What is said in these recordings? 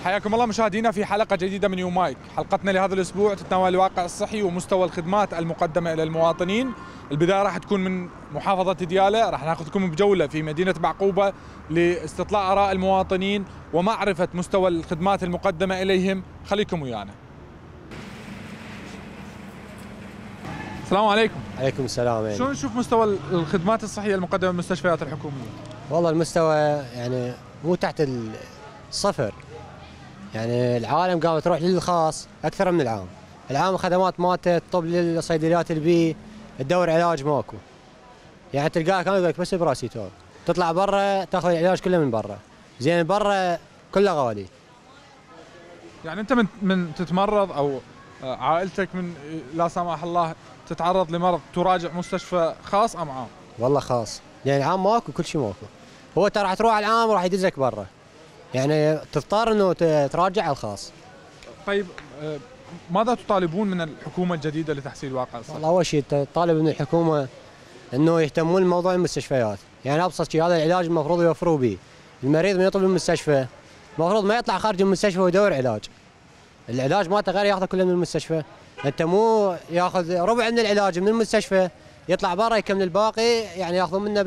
حياكم الله مشاهدينا في حلقة جديدة من يومايك. حلقتنا لهذا الأسبوع تتناول الواقع الصحي ومستوى الخدمات المقدمة إلى المواطنين. البداية راح تكون من محافظة ديالى، راح ناخذكم بجولة في مدينة بعقوبة لاستطلاع آراء المواطنين ومعرفة مستوى الخدمات المقدمة إليهم. خليكم ويانا. السلام عليكم. عليكم السلام. يعني شلون نشوف مستوى الخدمات الصحية المقدمة بالمستشفيات الحكومية؟ والله المستوى يعني مو تحت الصفر، يعني العالم قامت تروح للخاص اكثر من العام. العام خدمات مالته الطب للصيدليات البي تدور علاج ماكو، يعني تلقاه كان يقول لك بس براسيتول، تطلع برا تاخذ العلاج كله من برا، زين برا كله غالي. يعني انت من تتمرض او عائلتك من لا سمح الله تتعرض لمرض تراجع مستشفى خاص ام عام؟ والله خاص، يعني العام ماكو، كل شيء ماكو. هو ترى راح تروح على العام وراح يدزك برا، يعني تضطر انه تراجع على الخاص. طيب ماذا تطالبون من الحكومة الجديدة لتحسين الواقع الصحي؟ والله اول شيء طالب من الحكومة انه يهتمون بموضوع المستشفيات، يعني ابسط شيء هذا العلاج المفروض يوفروا به. المريض من يطلب من المستشفى المفروض ما يطلع خارج المستشفى ويدور علاج. العلاج مالته غير ياخذه كله من المستشفى، انت مو ياخذ ربع من العلاج من المستشفى يطلع برا يكمل الباقي، يعني ياخذون منه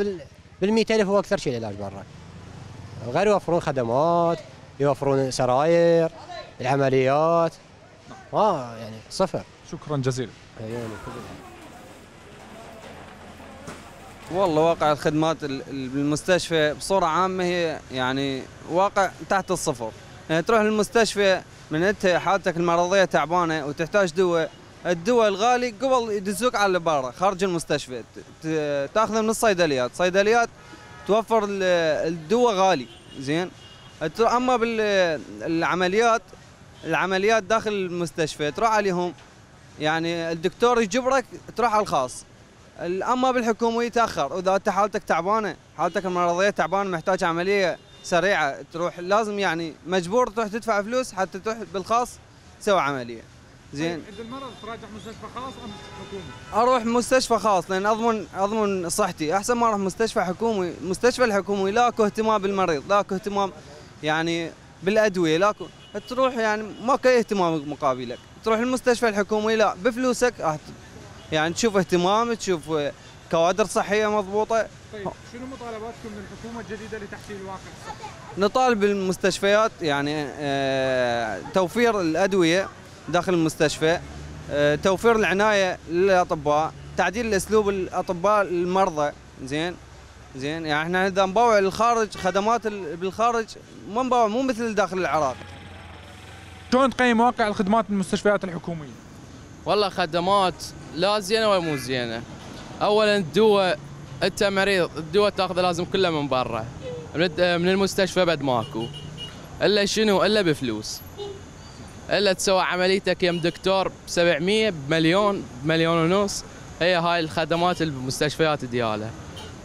بال100,000 هو اكثر شيء العلاج برا. غير يوفرون خدمات، يوفرون سراير، العمليات، يعني صفر. شكرا جزيلا. والله واقع الخدمات بالمستشفى بصورة عامة هي يعني واقع تحت الصفر. يعني تروح للمستشفى من انت حالتك المرضية تعبانة وتحتاج دواء، الدواء الغالي قبل يدزوك على برا خارج المستشفى تاخذه من الصيدليات، صيدليات توفر الدواء غالي زين. اما بالعمليات العمليات داخل المستشفى تروح عليهم، يعني الدكتور يجبرك تروح على الخاص. اما بالحكومه يتاخر، واذا انت حالتك تعبانه، حالتك المرضيه تعبانه محتاج عمليه سريعه تروح، لازم يعني مجبور تروح تدفع فلوس حتى تروح بالخاص تسوي عمليه زين. عند المرض تراجع مستشفى خاص ام حكومي؟ اروح مستشفى خاص لان اضمن صحتي احسن ما اروح مستشفى حكومي. المستشفى الحكومي لاكو اهتمام بالمريض، لاكو اهتمام يعني بالادويه، لاكو تروح يعني ماكو اي اهتمام مقابلك. تروح المستشفى الحكومي لا بفلوسك يعني تشوف اهتمام، تشوف كوادر صحيه مضبوطه. طيب شنو مطالباتكم من الحكومه الجديده لتحسين الواقع الصحي؟ نطالب بالمستشفيات يعني توفير الادويه داخل المستشفى، توفير العنايه للاطباء، تعديل الاسلوب الاطباء المرضى زين. يعني احنا اذا نبوع للخارج خدمات بالخارج ما نبوع، مو مثل داخل العراق. شلون تقيم واقع الخدمات بالمستشفيات الحكوميه؟ والله خدمات لا زينه ولا مو زينه. اولا الدواء، انت مريض الدواء تاخذه لازم كله من برا، من المستشفى بعد ماكو الا شنو الا بفلوس، الا تسوي عمليتك يم دكتور ب700 بمليون بمليون ونص. هي هاي الخدمات بالمستشفيات دياله.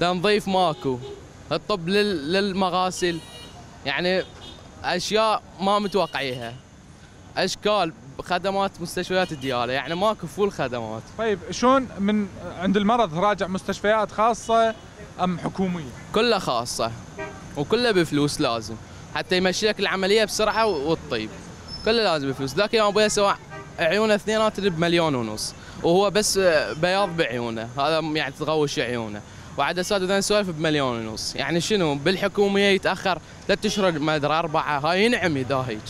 تنظيف ماكو، الطب للمغاسل، يعني اشياء ما متوقعيها، اشكال خدمات مستشفيات دياله، يعني ماكو فول خدمات. طيب شلون من عند المرض راجع مستشفيات خاصه ام حكوميه؟ كلها خاصه وكلها بفلوس، لازم حتى يمشي لك العمليه بسرعه والطيب كله لازم بفلوس. ذاك يوم ابوي سوى عيونه اثنينات بمليون ونص، وهو بس بياض بعيونه، هذا يعني تغوش عيونه، وعدسات وذن سوالف بمليون ونص. يعني شنو بالحكوميه يتاخر 3 اشهر ما ادري 4، هاي ينعم اذا هيك.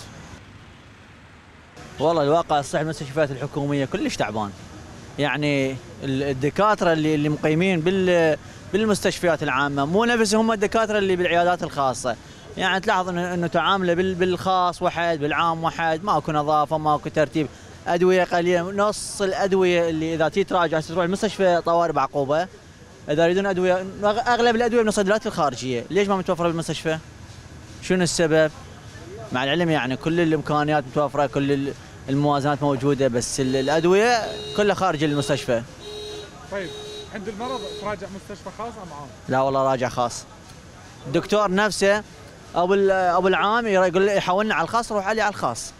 والله الواقع الصحي المستشفيات الحكوميه كلش تعبان. يعني الدكاتره اللي مقيمين بالمستشفيات العامه مو نفس هم الدكاتره اللي بالعيادات الخاصه. يعني تلاحظ انه تعامله بالخاص واحد، بالعام واحد، ماكو نظافه، ماكو ترتيب، ادويه قليله. نص الادويه اللي اذا تراجع تروح المستشفى طوارئ بعقوبه اذا يريدون ادويه، اغلب الادويه من الصيدليات الخارجيه. ليش ما متوفره بالمستشفى؟ شنو السبب؟ مع العلم يعني كل الامكانيات متوفره، كل الموازنات موجوده، بس الادويه كلها خارج المستشفى. طيب عند المرض تراجع مستشفى خاص ام عام؟ لا والله راجع خاص. الدكتور نفسه ابو العام يقول لي يحولنا على الخاص، روح علي على الخاص.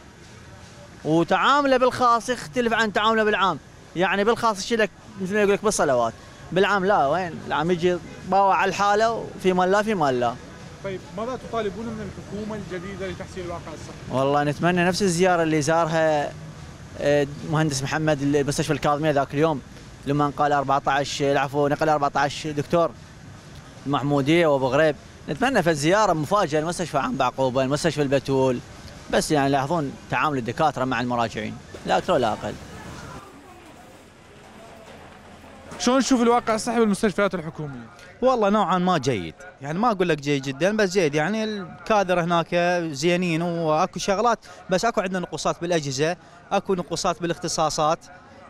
وتعامله بالخاص يختلف عن تعامله بالعام. يعني بالخاص يشيل لك مثل ما يقول لك بالصلوات، بالعام لا، وين العام يجي باوع على الحاله، وفي مال لا في مال لا. طيب ماذا تطالبون من الحكومة الجديدة لتحسين الواقع الصحي؟ والله نتمنى نفس الزياره اللي زارها المهندس محمد المستشفى الكاظميه ذاك اليوم، لما قال 14 نقل 14 دكتور المحموديه وابو غريب. نتمنى في الزياره مفاجاه المستشفى عام بعقوبه، المستشفى البتول، بس يعني يلاحظون تعامل الدكاتره مع المراجعين، لا اكثر ولا اقل. شلون تشوف الواقع الصحي بالمستشفيات الحكومية؟ والله نوعا ما جيد، يعني ما اقول لك جيد جدا بس جيد، يعني الكادر هناك زينين واكو شغلات، بس اكو عندنا نقصات بالاجهزه، اكو نقصات بالاختصاصات،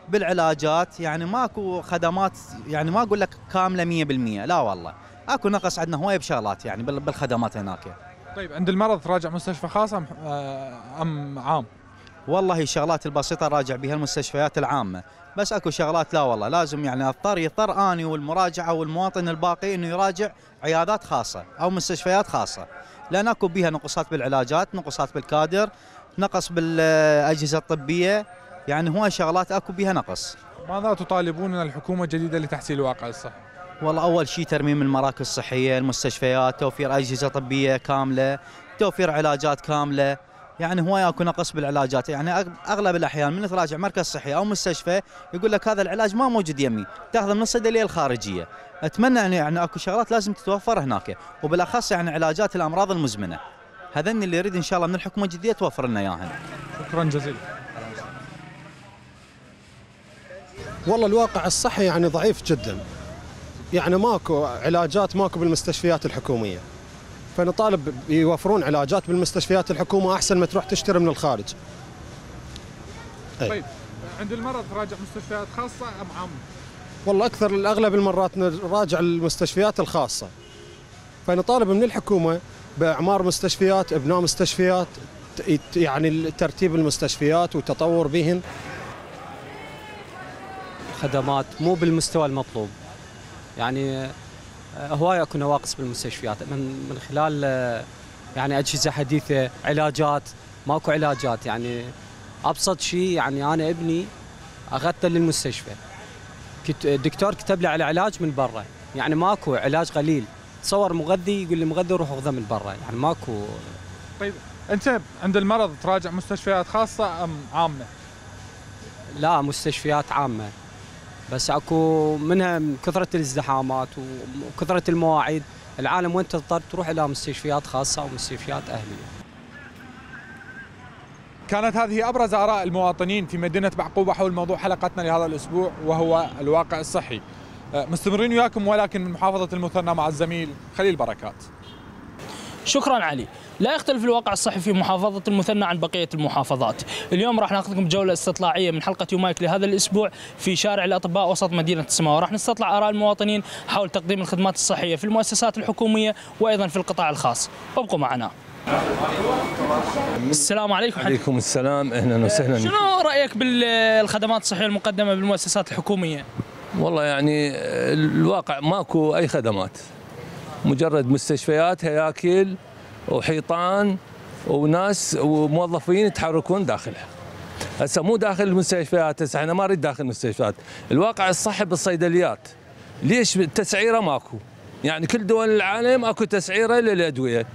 بالعلاجات، يعني ماكو خدمات، يعني ما اقول لك كامله 100%، لا والله اكو نقص عندنا هوايه بشغلات يعني بالخدمات هناك. طيب عند المرض تراجع مستشفى خاص ام عام؟ والله الشغلات البسيطه راجع بها المستشفيات العامه، بس اكو شغلات لا والله لازم يعني يضطر اني والمراجعه والمواطن الباقي انه يراجع عيادات خاصه او مستشفيات خاصه، لان اكو بها نقصات بالعلاجات، نقصات بالكادر، نقص بالاجهزه الطبيه، يعني هو شغلات اكو بها نقص. ماذا تطالبون من الحكومة الجديدة لتحسين الواقع الصحي؟ والله اول شيء ترميم المراكز الصحيه، المستشفيات، توفير اجهزه طبيه كامله، توفير علاجات كامله، يعني هو اكو نقص بالعلاجات، يعني اغلب الاحيان من تراجع مركز صحي او مستشفى يقول لك هذا العلاج ما موجود يمي، تاخذه من الصيدليه الخارجيه. اتمنى يعني اكو شغلات لازم تتوفر هناك، وبالاخص يعني علاجات الامراض المزمنه. هذني اللي يريد ان شاء الله من الحكومه الجديده توفر لنا اياهن. شكرا جزيلا. والله الواقع الصحي يعني ضعيف جدا، يعني ماكو علاجات، ماكو بالمستشفيات الحكوميه، فنطالب يوفرون علاجات بالمستشفيات الحكومه احسن ما تروح تشتري من الخارج. طيب عند المرض تراجع مستشفيات خاصه ام عامه؟ والله اغلب المرات نراجع المستشفيات الخاصه، فنطالب من الحكومه باعمار مستشفيات، ابناء مستشفيات، يعني ترتيب المستشفيات وتطور بهن. خدمات مو بالمستوى المطلوب، يعني هواي اكو نواقص بالمستشفيات من خلال يعني اجهزه حديثه، علاجات ماكو علاجات، يعني ابسط شيء يعني انا ابني اخذته للمستشفى، الدكتور كتب لي على علاج من برا، يعني ماكو علاج قليل، تصور مغذي يقول لي مغذي روح اخذه من برا، يعني ماكو. طيب انت عند المرض تراجع مستشفيات خاصه ام عامه؟ لا مستشفيات عامه، بس اكو منها من كثره الازدحامات وكثره المواعيد، العالم وين تضطر تروح الى مستشفيات خاصه او مستشفيات اهليه. كانت هذه ابرز اراء المواطنين في مدينه بعقوبه حول موضوع حلقتنا لهذا الاسبوع وهو الواقع الصحي. مستمرين وياكم ولكن من محافظه المثنى مع الزميل خليل بركات. شكرا علي. لا يختلف الواقع الصحي في محافظة المثنى عن بقية المحافظات. اليوم راح ناخذكم جولة استطلاعية من حلقة يومايك لهذا الأسبوع في شارع الأطباء وسط مدينة السماوة، راح نستطلع آراء المواطنين حول تقديم الخدمات الصحية في المؤسسات الحكومية وأيضا في القطاع الخاص. ابقوا معنا. السلام عليكم. عليكم السلام، اهلا وسهلا. شنو رأيك بالخدمات الصحية المقدمة بالمؤسسات الحكومية؟ والله يعني الواقع ماكو أي خدمات، مجرد مستشفيات، هياكل وحيطان وناس وموظفين يتحركون داخلها. هسه مو داخل المستشفيات، هسه احنا ما نريد داخل المستشفيات. الواقع الصحي بالصيدليات، ليش التسعيره ماكو؟ يعني كل دول العالم اكو تسعيره للادويه.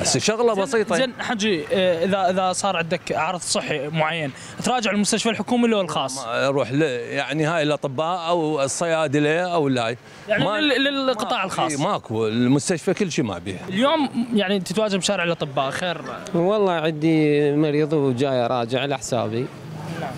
بس شغله بسيطه. زين حجي، اذا صار عندك عرض صحي معين تراجع المستشفى الحكومي ولا الخاص؟ اروح يعني هاي الاطباء او الصيادله او لا، يعني للقطاع الخاص ماكو، المستشفى كل شيء ما بيها. اليوم يعني تتواجد بشارع الاطباء، خير؟ والله عندي مريض وجاي راجع على حسابي.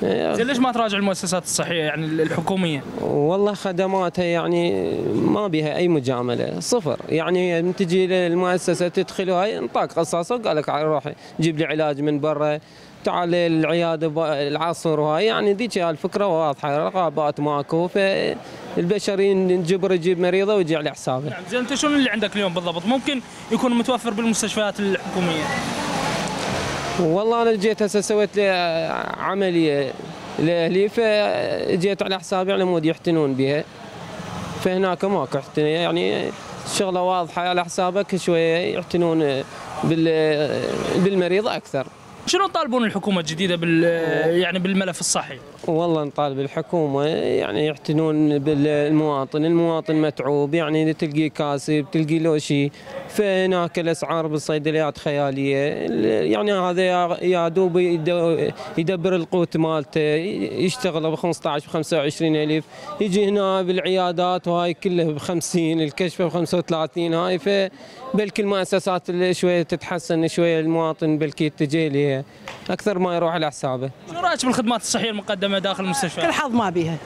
زين ليش ما تراجع المؤسسات الصحيه يعني الحكوميه؟ والله خدماتها يعني ما بها اي مجامله، صفر، يعني من تجي للمؤسسه تدخل هاي انطاك قصاصه وقال لك روح جيب لي علاج من برا، تعال العياده العصر وهاي، يعني ذيك الفكره واضحه، رقابات ماكو، فالبشرين نجبر يجيب مريضه ويجي على حسابه. نعم. زين انت شنو اللي عندك اليوم بالضبط ممكن يكون متوفر بالمستشفيات الحكوميه؟ والله انا جيت هسه سويت لي عمليه لاهلي، فجيت على حسابي على مود يحتنون بها، فهناك ماكو احتناء، يعني الشغله واضحه، على حسابك شويه يحتنون بالمريض اكثر. شنو تطالبون الحكومه الجديده يعني بالملف الصحي؟ والله نطالب الحكومة يعني يعتنون بالمواطن، المواطن متعوب يعني تلقيه كاسب تلقي له شيء، فهناك الأسعار بالصيدليات خيالية، يعني هذا يا دوب يدبر القوت مالته، يشتغل ب 15 ب 25 ألف، يجي هنا بالعيادات وهاي كلها ب 50، الكشف ب 35، هاي فبلكي المؤسسات شوية تتحسن شوية، المواطن بلكي يتجه لها أكثر ما يروح على حسابه. شو رايك بالخدمات الصحيه المقدمه داخل المستشفى؟ كل حظ ما بيها،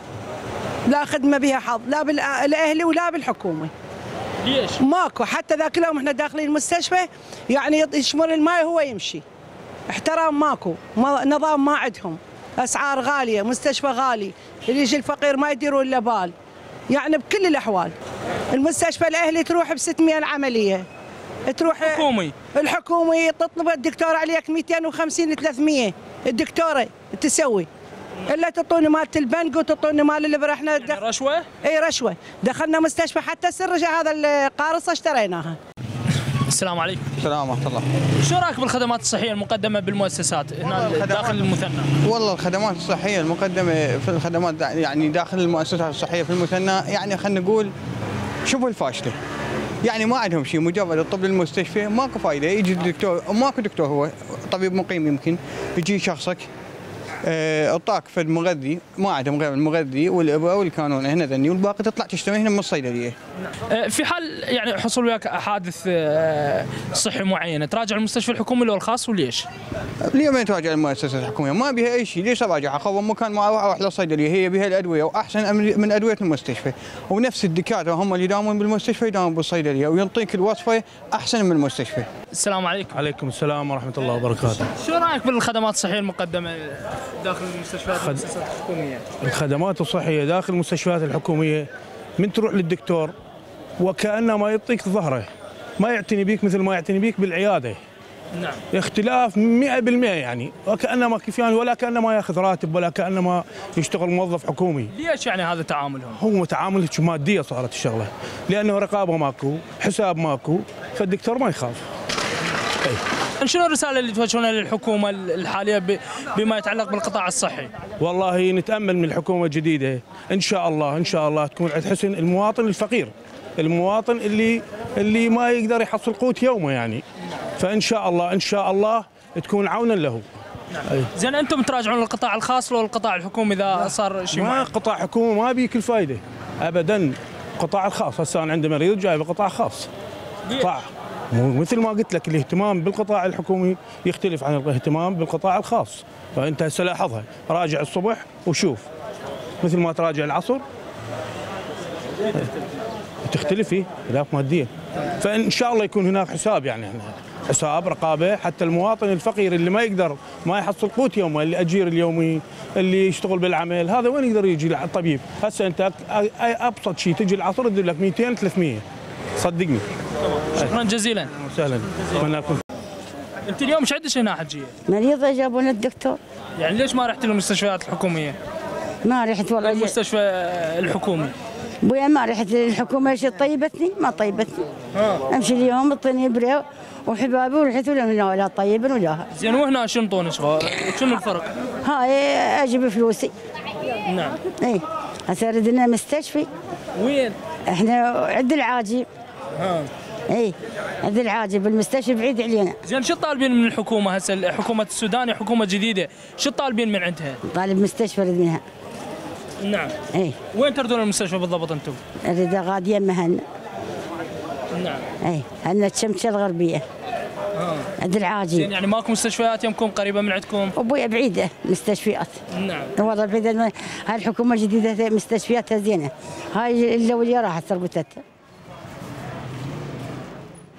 لا خدمه بيها حظ، لا بالاهلي ولا بالحكومه. ليش؟ ماكو، حتى ذاك اليوم احنا داخلين المستشفى يعني يشمر الماء هو يمشي. احترام ماكو، نظام ما عندهم، اسعار غاليه، مستشفى غالي، اللي يجي الفقير ما يديروا الا بال. يعني بكل الاحوال. المستشفى الاهلي تروح ب 600 العمليه. تروح الحكومي تطلب الدكتور عليك 250 300 الدكتوره تسوي، الا تعطوني مالت البنك وتعطوني مال الابره. احنا يعني رشوه؟ اي رشوه، دخلنا مستشفى حتى السرجه هذا القارصه اشتريناها. السلام عليكم. السلام ورحمه الله. شو رايك بالخدمات الصحيه المقدمه بالمؤسسات هنا داخل المثنى؟ والله الخدمات الصحيه المقدمه في الخدمات يعني داخل المؤسسات الصحيه في المثنى يعني خلينا نقول شبه الفاشله. يعني ما عندهم شيء، مجرد الطب للمستشفى ماكو فايده، يجي الدكتور ماكو دكتور، هو طبيب مقيم يمكن يجي شخصك اعطاك فد مغذي، ما عندهم غير المغذي والابره والكانون هنا ذني، والباقي تطلع تشتري هنا من الصيدليه. في حال يعني حصل وياك حادث صحي معين تراجع المستشفى الحكومي ولا الخاص وليش؟ ليه ما تراجع المؤسسه الحكوميه؟ ما بها اي شيء، ليش اراجعها؟ خذ مكان ما اروح للصيدليه، هي بها الادويه واحسن من ادويه المستشفى، ونفس الدكاتره هم اللي يداومون بالمستشفى يداومون بالصيدليه ويعطيك الوصفه احسن من المستشفى. السلام عليكم. عليكم السلام ورحمه الله وبركاته. شو رايك بالخدمات الصحيه المقدمه داخل المستشفيات والمؤسسات الحكوميه؟ الخدمات الصحيه داخل المستشفيات الحكوميه من تروح للدكتور وكانه ما يعطيك ظهره، ما يعتني بيك مثل ما يعتني بيك بالعياده. نعم. اختلاف 100% يعني، وكانه ما كيفيان ولا كانه ما ياخذ راتب ولا كانه ما يشتغل موظف حكومي. ليش يعني هذا تعاملهم؟ هو تعامل ماديه صارت الشغله، لانه رقابه ماكو، حساب ماكو، فالدكتور ما يخاف. شنو الرساله اللي توجهونها للحكومه الحاليه بما يتعلق بالقطاع الصحي؟ والله نتامل من الحكومه الجديده ان شاء الله تكون عند حسن المواطن الفقير، المواطن اللي ما يقدر يحصل قوت يومه يعني، فان شاء الله تكون عونا له. زين انتم تراجعون القطاع الخاص ولا القطاع الحكومي اذا صار شيء؟ ما قطاع حكومي ما بيك الفائده ابدا، القطاع الخاص هسه انا عندي مريض جاي بقطاع خاص. قطاع مثل ما قلت لك الاهتمام بالقطاع الحكومي يختلف عن الاهتمام بالقطاع الخاص، فانت هسه لاحظها، راجع الصبح وشوف مثل ما تراجع العصر تختلف فيه خلاف ماديا، فان شاء الله يكون هناك حساب، يعني حساب رقابه حتى المواطن الفقير اللي ما يقدر ما يحصل قوت يومه، اللي اجير اليومي اللي يشتغل بالعمل، هذا وين يقدر يجي للطبيب؟ هسه انت ابسط شيء تجي العصر يدير لك 200 300 صدقني. شكرا جزيلا. وسهلا. انت اليوم ايش عندك هنا حجيه؟ مريضه جابونا الدكتور. يعني ليش ما رحت للمستشفيات الحكوميه؟ ما رحت والله. المستشفى الحكومي. ابويا ما رحت للحكومه، ايش طيبتني؟ ما طيبتني. امشي اليوم اعطيني ابره وحبابي ورحت لهم هنا ولا طيبا ولا. زين وهنا شو انطوني شنو الفرق؟ هاي اجيب فلوسي. نعم. اي هسه ردنا مستشفى. وين؟ احنا عند العاجي. اي عند العاجي بالمستشفى بعيد علينا. زين شو طالبين من الحكومه هسه؟ حكومه السودان حكومه جديده، شو طالبين من عندها؟ طالب مستشفى اريد منها. نعم. اي وين تردون المستشفى بالضبط انتم؟ اريد غاديه مهنا. نعم. اي هنا الشمشة الغربيه. عند العاجي. زين يعني ماكو مستشفيات يمكم قريبه من عندكم؟ ابويا بعيده مستشفيات. نعم. والله بعيده، هاي الحكومه الجديده مستشفياتها زينه، هاي الاوليه راحت سرقتها.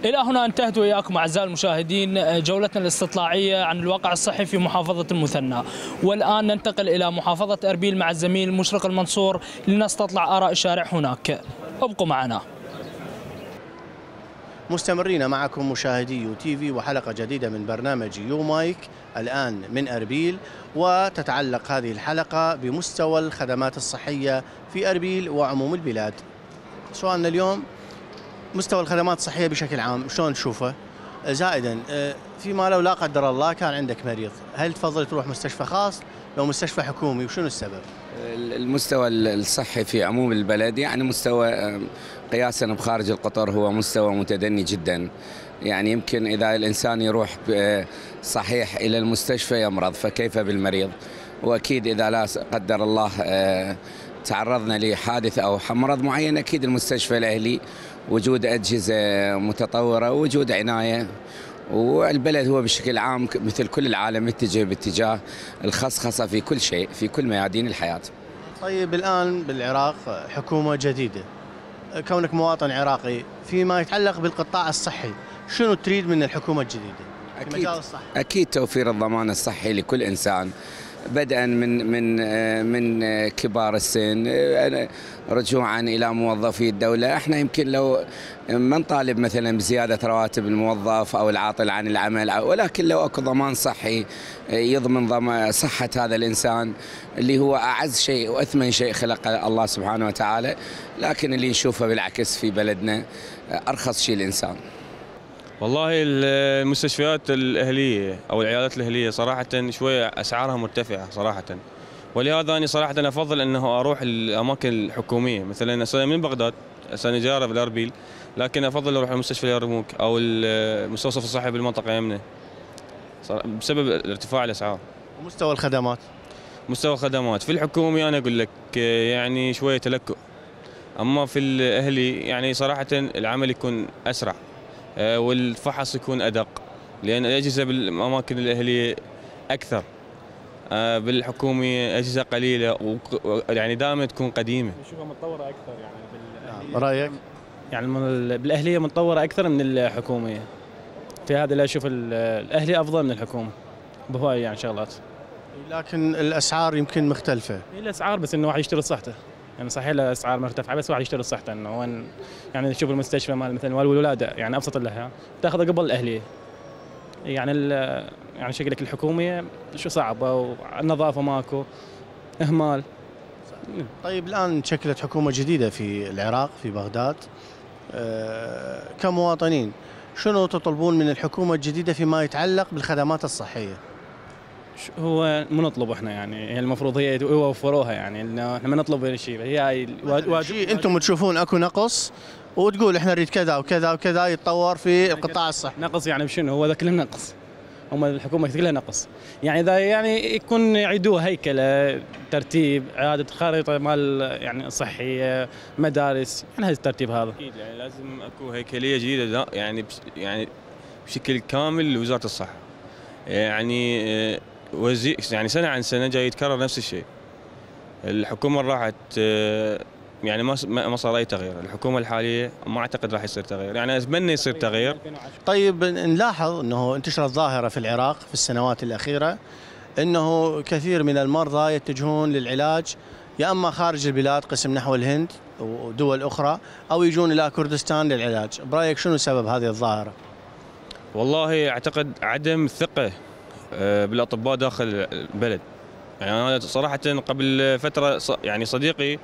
إلى هنا انتهت وإياكم أعزائي المشاهدين جولتنا الاستطلاعية عن الواقع الصحي في محافظة المثنى، والآن ننتقل إلى محافظة أربيل مع الزميل مشرق المنصور لنستطلع آراء الشارع هناك. ابقوا معنا. مستمرين معكم مشاهدي يو تي في وحلقة جديدة من برنامج يو مايك الآن من أربيل، وتتعلق هذه الحلقة بمستوى الخدمات الصحية في أربيل وعموم البلاد. سؤالنا اليوم مستوى الخدمات الصحية بشكل عام شلون تشوفه؟ زائدا فيما لو لا قدر الله كان عندك مريض، هل تفضل تروح مستشفى خاص لو مستشفى حكومي، وشنو السبب؟ المستوى الصحي في عموم البلد يعني مستوى قياسا بخارج القطر هو مستوى متدني جدا. يعني يمكن إذا الإنسان يروح صحيح إلى المستشفى يمرض، فكيف بالمريض؟ وأكيد إذا لا قدر الله تعرضنا لحادث أو مرض معين، أكيد المستشفى الأهلي وجود أجهزة متطورة ووجود عناية. والبلد هو بشكل عام مثل كل العالم يتجه باتجاه الخصخصة في كل شيء في كل ميادين الحياة. طيب الآن بالعراق حكومة جديدة، كونك مواطن عراقي فيما يتعلق بالقطاع الصحي، شنو تريد من الحكومة الجديدة في مجال الصحة؟ أكيد توفير الضمان الصحي لكل إنسان، بدءا من كبار السن رجوعا الى موظفي الدوله. احنا يمكن لو ما نطالب مثلا بزياده رواتب الموظف او العاطل عن العمل، ولكن لو اكو ضمان صحي يضمن صحه هذا الانسان اللي هو اعز شيء واثمن شيء خلق الله سبحانه وتعالى، لكن اللي نشوفه بالعكس في بلدنا ارخص شيء الانسان. والله المستشفيات الأهلية أو العيادات الأهلية صراحة شوية أسعارها مرتفعة صراحة، ولهذا أنا صراحة أفضل أنه أروح الأماكن الحكومية. مثلا أنا من بغداد، أنا جارة بالأربيل، لكن أفضل أروح المستشفى اليرموك أو المستوصف الصحي بالمنطقة يمنى بسبب ارتفاع الأسعار. ومستوى الخدمات؟ مستوى الخدمات في الحكومي أنا أقول لك يعني شوية تلكؤ، أما في الأهلي يعني صراحة العمل يكون أسرع والفحص يكون أدق، لأن الأجهزة بالأماكن الأهلية أكثر، بالحكومي أجهزة قليلة يعني دائما تكون قديمة. نشوفها متطورة أكثر يعني رأيك؟ يعني بالأهلية متطورة أكثر من الحكومية. في هذا لا أشوف الأهلي أفضل من الحكومة بهواي يعني شغلات. لكن الأسعار يمكن مختلفة. الأسعار بس إنه واحد يشتري صحته. يعني صحيح الاسعار مرتفعه بس واحد يشتري صحته، انه وين يعني تشوف المستشفى مال مثلا والولاده يعني ابسط لها تاخذها قبل الاهليه. يعني شكلك الحكوميه شو صعبه والنظافه ماكو، اهمال. طيب الان شكلت حكومه جديده في العراق في بغداد، كمواطنين شنو تطلبون من الحكومه الجديده فيما يتعلق بالخدمات الصحيه؟ هو مو نطلب احنا يعني هي المفروض هي يوفروها، يعني انه احنا ما نطلب شيء، هي واجب. انتم تشوفون اكو نقص وتقول احنا نريد كذا وكذا وكذا يتطور في القطاع الصحي. نقص يعني بشنو؟ هو ذا كله نقص، هم الحكومه كلها نقص. يعني اذا يعني يكون يعيدوها هيكله ترتيب اعاده خريطه مال يعني صحيه مدارس، يعني هذا الترتيب هذا اكيد يعني لازم اكو هيكليه جديده يعني بشكل كامل لوزاره الصحه. يعني يعني سنه عن سنه جاي يتكرر نفس الشيء. الحكومه راحت يعني ما صار اي تغيير، الحكومه الحاليه ما اعتقد راح يصير تغيير، يعني اتمنى يصير تغيير. طيب نلاحظ انه انتشرت ظاهره في العراق في السنوات الاخيره انه كثير من المرضى يتجهون للعلاج يا اما خارج البلاد قسم نحو الهند ودول اخرى او يجون الى كردستان للعلاج، برايك شنو سبب هذه الظاهره؟ والله اعتقد عدم الثقه بالاطباء داخل البلد. يعني انا صراحه قبل فتره يعني صديقي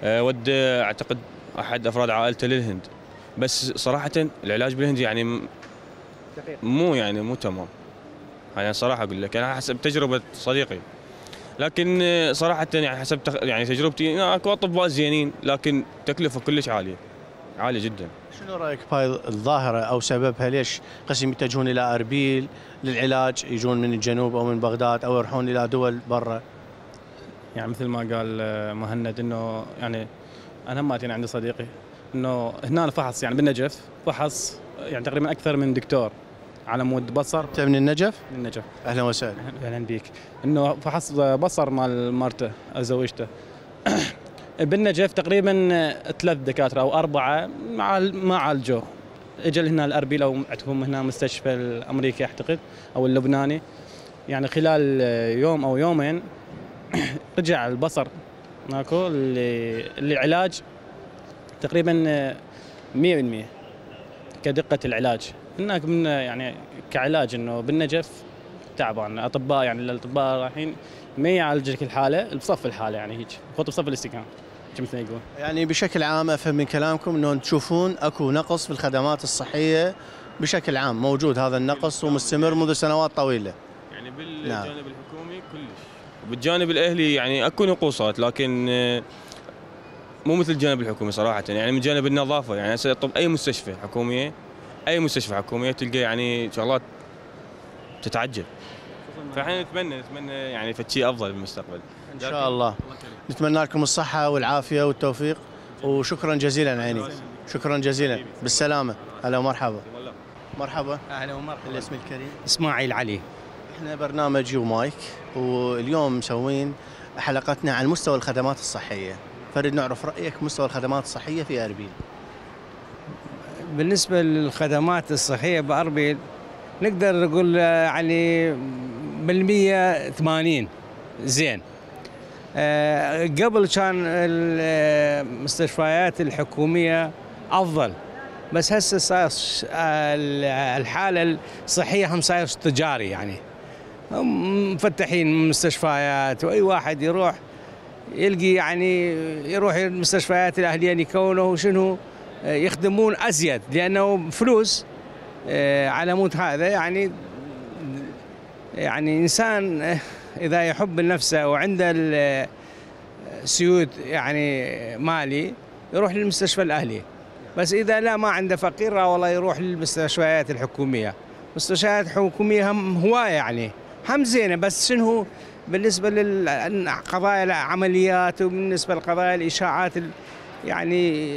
ودى اعتقد احد افراد عائلته للهند، بس صراحه العلاج بالهند يعني مو تمام. يعني صراحه اقول لك انا حسب تجربه صديقي، لكن صراحه يعني حسب يعني تجربتي اكو اطباء زينين لكن تكلفه كلش عاليه جدا. شنو رايك بهاي الظاهره او سببها؟ ليش قسم يتجهون الى اربيل للعلاج، يجون من الجنوب او من بغداد او يروحون الى دول برا؟ يعني مثل ما قال مهند انه يعني انا هماتي عندي صديقي انه هنا فحص يعني بالنجف فحص يعني تقريبا اكثر من دكتور على مود بصر. انت من النجف؟ من النجف. اهلا وسهلا. اهلا بيك. انه فحص بصر مال مرته زوجته بالنجف تقريبا 3 دكاتره او 4 ما عالجوه. اجى هنا الاربيل او عندهم هنا مستشفى الامريكي اعتقد او اللبناني، يعني خلال يوم او يومين رجع البصر ماكو اللي علاج تقريبا 100% كدقه العلاج. هناك من يعني كعلاج انه بالنجف تعبان اطباء، يعني الاطباء رايحين ما يعالج لك الحاله بصف الحاله، يعني هيك خط بصف الاستكان مثل ما يقول. يعني بشكل عام افهم من كلامكم انه تشوفون اكو نقص في الخدمات الصحيه بشكل عام، موجود هذا النقص ومستمر منذ سنوات طويله. يعني بالجانب الحكومي كلش، بالجانب الاهلي يعني اكو نقوصات، لكن مو مثل الجانب الحكومي صراحه. يعني من جانب النظافه، يعني هسه طب اي مستشفى حكوميه تلقى يعني شغلات تتعجب. فاحنا نتمنى يعني فشي افضل بالمستقبل ان شاء الله. نتمنى لكم الصحه والعافيه والتوفيق، وشكرا جزيلا عيني. شكرا جزيلا، بالسلامه. هلا ومرحبا. مرحبا. اهلا ومرحبا. الاسم الكريم؟ اسماعيل علي. احنا برنامج يو مايك، واليوم مسوين حلقتنا عن مستوى الخدمات الصحيه. فريد نعرف رايك مستوى الخدمات الصحيه في اربيل. بالنسبه للخدمات الصحيه باربيل نقدر نقول يعني بالمية 80 زين. قبل كان المستشفيات الحكوميه افضل، بس هسه صار الحاله الصحيه هم صاير تجاري، يعني هم مفتحين مستشفيات واي واحد يروح يلقي يعني يروح المستشفيات الاهليه يكونوا شنو يخدمون ازيد لانه فلوس على مود هذا. يعني انسان اذا يحب نفسه وعنده السيود يعني مالي يروح للمستشفى الاهلي، بس اذا لا ما عنده فقير والله يروح للمستشفيات الحكوميه. المستشفيات الحكوميه هم هوايه يعني هم زينه، بس شنو بالنسبه للقضايا العمليات وبالنسبه لقضايا الاشاعات يعني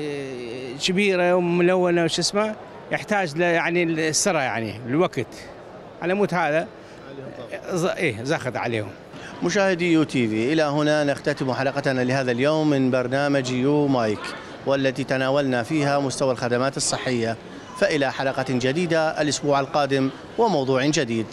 كبيره وملونه وش اسمه يحتاج يعني السرعه يعني الوقت على مود هذا زاخذ عليهم. مشاهدي يو تي في، الى هنا نختتم حلقتنا لهذا اليوم من برنامج يو مايك، والتي تناولنا فيها مستوى الخدمات الصحيه. فإلى حلقة جديدة الأسبوع القادم وموضوع جديد.